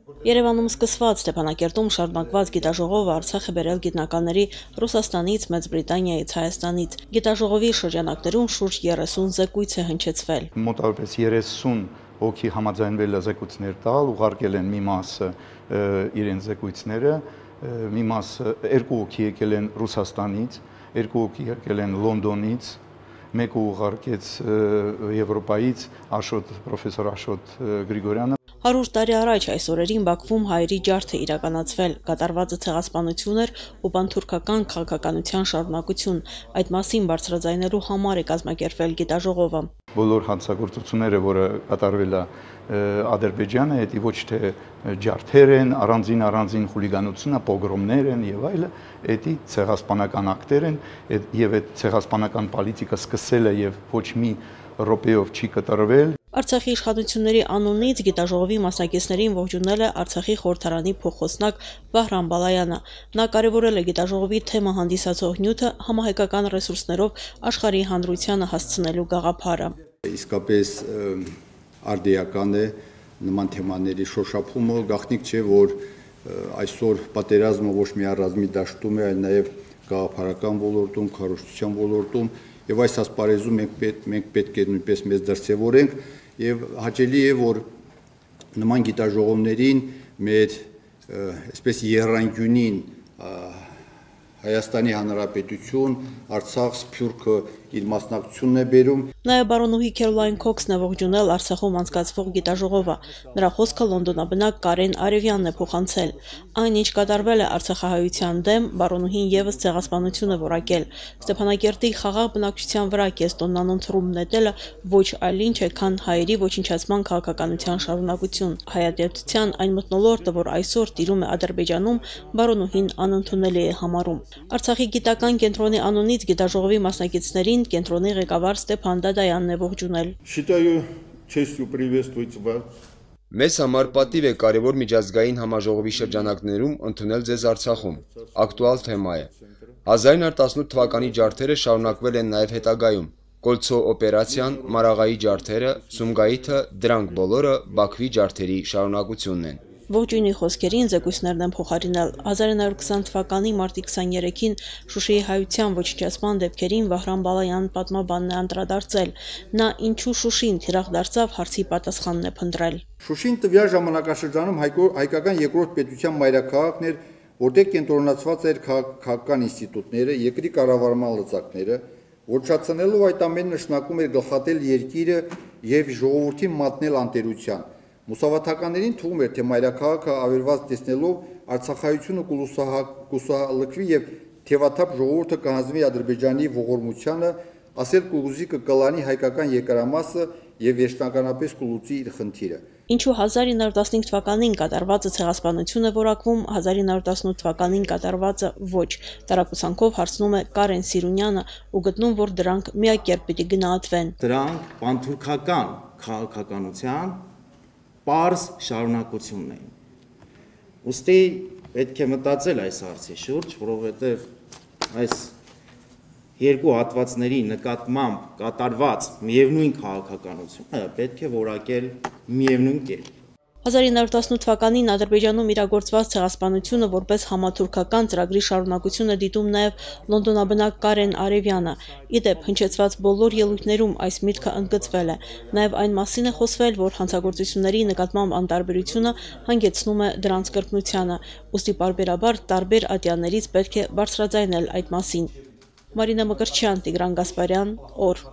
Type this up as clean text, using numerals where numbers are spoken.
Երևանում սկսված Ստեփանակերտում շարունակված գիտաժողովը Արցախ է բերել գիտնականների Ռուսաստանից, Մեծ Բրիտանիայից, Հայաստանից։ Գիտաժողովի շրջանակներում շուրջ 30 զեկույց է հնչեցվել։ Մոտավորապես 30 հոգի համաձայնվել է զեկույցներ տալ, ուղարկել են մի մասը իրենց զեկույցները, մի մասը 2 հոգի եկել են Ռուսաստանից, 2 հոգի եկել են Լոնդոնից, մեկը ուղարկեց Եվրոպայից պրոֆեսոր Աշոտ Գրիգորյանը։ 100 տարի առաջ այս օրերին Բաքվում հայերի ջարդ է իրականացվել, կատարվածը ցեղասպանություն էր ու պանթուրքական քաղաքականության շարունակություն։ Այդ մասին բարձրաձայնելու համար է կազմակերպվել գիտաժողովը։ Բոլոր հանցագործությունները, որը կատարվել է Ադրբեջանը, դա ոչ թե ջարդեր են, առանձին խուլիգանությունը, պոգրոմներ են եւ այլը, դա ցեղասպանական ակտեր են, եւ այդ ցեղասպանական պոլիտիկա սկսել է եւ ոչ մի րոպեով չի կատարվել։ Արցախի իշխանությունների անունից գիտաժողովի մասնակիցներին ողջունել է Արցախի խորհրդարանի փոխոսնակ Վահրամ Բալայանը։ Նա կարևորել է գիտաժողովի թեմա հանդիսացող նյութը համահայկական ռեսուրսներով աշխարհի հանրությանը հասցնելու գաղափարը։ Իսկապես արդիական է նման թեմաների շոշափումը, գաղտնիք չէ, որ այսօր պատերազմը ոչ միայն ռազմի դաշտում է, այլ նաև գաղափարական ոլորտում, քարոզչության ոլորտում, եւ այս ասպարեզում մենք պետք է նույնպես մեզ դրսևորենք եւ հաճելի է, որ նման գիտաժողովներին մեր այսպես եռանկյունին Հայաստանի Հանրապետություն, Արցախ, Սփյուռքը իր մասնակցությունն է բերում։ Նաև բարոնուհի Քերոլայն Քոքսն է ողջունել Արցախում անցկացվող գիտաժողովը։ Նրա խոսքը լոնդոնաբնակ Կարեն Արևյանն է փոխանցել։ Այն, ինչ կատարվել է արցախահայության դեմ, բարոնուհին եւս ցեղասպանություն է որակել։ Ստեփանակերտի խաղաղ բնակչության վրա կեստոնն անընթրում նետելը ոչ այլ ինչ է, քան հայերի ոչնչացման քաղաքականության շարունակություն։ Հայատյացության այն մթնոլորտը, որ այսօր տիրում է Ադրբեջանում, բարոնուհին անընդունելի է համարում։ Արցախի գիտական կենտրոնի անունից գիտաժողովի մասնակիցներին կենտրոնի ղեկավար Ստեփան Դադայանն է ողջունել։ Считаю честью приветствовать вас. Մեզ համար պատիվ է կարևոր միջազգային համաժողովի շրջանակներում ընդունել ձեզ Արցախում։ Ակտուալ թեմա է։ 1918 թվականի ջարդերը շարունակվել են նաև հետագայում։ Կոլցո օպերացիան, Մարաղայի ջարդերը, Սումգայիթը, դրանք բոլորը Բաքվի ջարդերի շարունակությունն են։ Ողջույնի խոսքերին զեկույցներն են փոխարինել 1920 թվականի մարտի 23-ին Շուշիի հայության ոչնչացման դեպքերին Վահրամ Բալայան պատմաբանն է անդրադարձել։ Նա ինչու Շուշին թիրախ դարձավ հարցի պատասխանն է փնտրել։ Շուշին տվյալ ժամանակաշրջանում հայկական երկրորդ պետության մայրաքաղաքն էր, որտեղ կենտրոնացված էր քաղաքական ինստիտուտները, երկրի կառավարման լծակները, ոչնչացնելով այդ ամենը նշանակում էր գլխատել երկիրը եւ ժողովրդին մատնել անտերության։ Մուսավաթականներին թվում էր, թե մայրաքաղաքը ավերված տեսնելով արցախայությունը կուսահալքվի եւ թևաթափ ժողովուրդը կհանձվի Ադրբեջանի ողորմությանը, ասել կուզի կկլանի հայկական երկարամասը եւ վերջնականապես կլուծի իր խնդիրը։ Ինչու 1915 թվականին կատարվածը ցեղասպանություն է որակվում, 1918 թվականին կատարվածը ոչ։ Տարակուսանքով հարցնում է Կարեն Սիրունյանը ու գտնում, որ դրանք միակերպ պիտի գնահատվեն։ Դրանք պանթուրքական քաղաքականության պարզ շարունակությունն էին։ Ուստի պետք է մտածել այս հարցի շուրջ, որովհետև այս երկու հատվածների նկատմամբ կատարված միևնույն քաղաքականությունը պետք է որակել միևնույն կերպ։ 1918 թվականին Ադրբեջանում իրագործված ցեղասպանությունը որպես համաթուրքական ծրագրի շարունակություն է դիտում նաև լոնդոնաբնակ Կարեն Արևյանը։ Իդեպ հնչեցված բոլոր ելույթներում այս միտքը ընդգծվել է։ Նաև այն մասին է խոսվել, որ հանցագործությունների նկատմամբ անտարբերությունը հանգեցնում է դրանց կրկնությանը, ուստի պարբերաբար տարբեր ատյաններից պետք է բարձրաձայնել այդ մասին։ Մարինա Մկրտչյան, Տիգրան Գասպարյան, օր։